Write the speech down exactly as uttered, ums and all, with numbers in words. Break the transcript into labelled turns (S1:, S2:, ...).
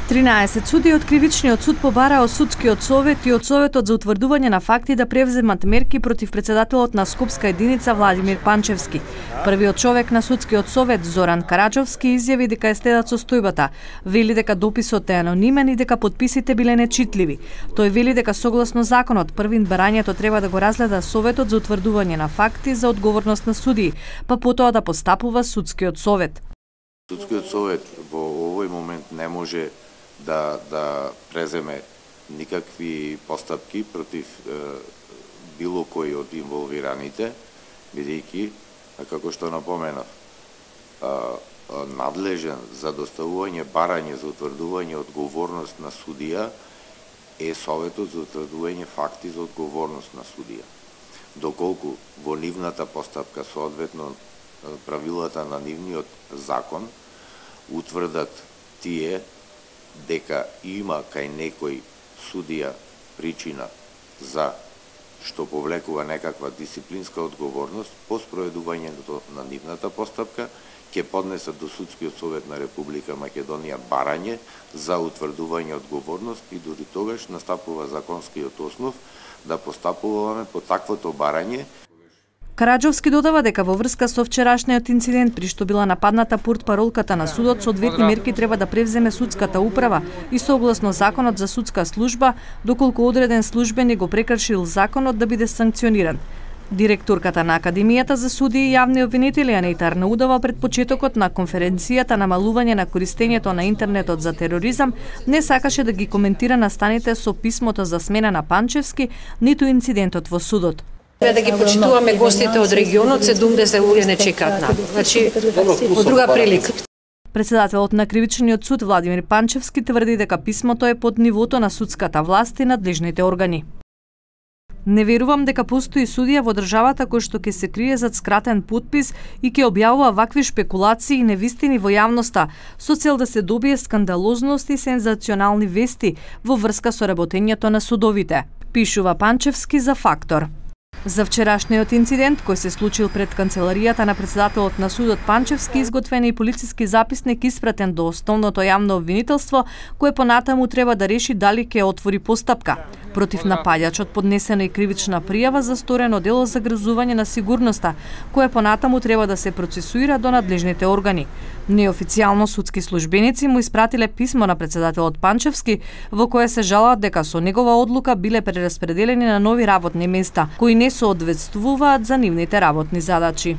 S1: тринаесет судии од Кривичниот суд побараа од судскиот совет и од Советот за утврдување на факти да превземат мерки против председателот на Скопска единица Владимир Панчевски. Првиот човек на судскиот совет Зоран Караџовски изјави дека е стедат состојбата. Вели дека дописот е анонимен и дека подписите биле нечитливи. Тој вели дека согласно законот првин барањето треба да го разгледа Советот за утврдување на факти за одговорност на судии, па потоа да постапува судскиот совет.
S2: Судскиот совет во овој момент не може да да преземе никакви постапки против е, било кој од инволвираните, бидејќи, како што напоменав, е, надлежен за доставување барање за утврдување одговорност на судија е Советот за утврдување факти за одговорност на судија. Доколку во нивната постапка соодветно правилата на нивниот закон утврдат тие дека има кај некој судија причина за што повлекува некаква дисциплинска одговорност, по спроведувањето на нивната постапка ќе поднесат до Судскиот совет на Република Македонија барање за утврдување одговорност и дури тогаш настапува законскиот основ да постапуваме по таквото барање.
S1: Караџовски додава дека во врска со вчерашниот инцидент при што била нападната портпаролката на судот, соодветни мерки треба да превземе судската управа и согласно законот за судска служба, доколку одреден службеник го прекршил законот да биде санкциониран. Директорката на Академијата за судии и јавни обвинители Анита Арнаудова пред почетокот на конференцијата намалување на користењето на интернетот за тероризам не сакаше да ги коментира настаните со писмото за смена на Панчевски, ниту инцидентот во судот.
S3: Да ги почитуваме гостите од регионот, седумдесет луѓе не чекаат на. Значи, од друга прилика.
S1: Председателот на Кривичниот суд Владимир Панчевски тврди дека писмото е под нивото на судската власт и надлежните органи. Не верувам дека постои судија во државата кој што ќе се крие зад скратен подпис и ќе објавува вакви шпекулации и невистини во јавноста со цел да се добие скандалозност и сензационални вести во врска со работењето на судовите, пишува Панчевски за Фактор. За вчерашниот инцидент кој се случил пред канцеларијата на председателот на судот Панчевски изготвен и полициски записник испратен до основното јавно обвинителство, кое понатаму треба да реши дали ќе отвори постапка. Против напаѓачот поднесена и кривична пријава за сторено дело за грозување на сигурноста, кое понатаму треба да се процесуира до надлежните органи. Неофицијално судски службеници му испратиле писмо на председателот Панчевски во кое се жалат дека со негова одлука биле прераспределени на нови работни места, кои не соодветствуваат за нивните работни задачи.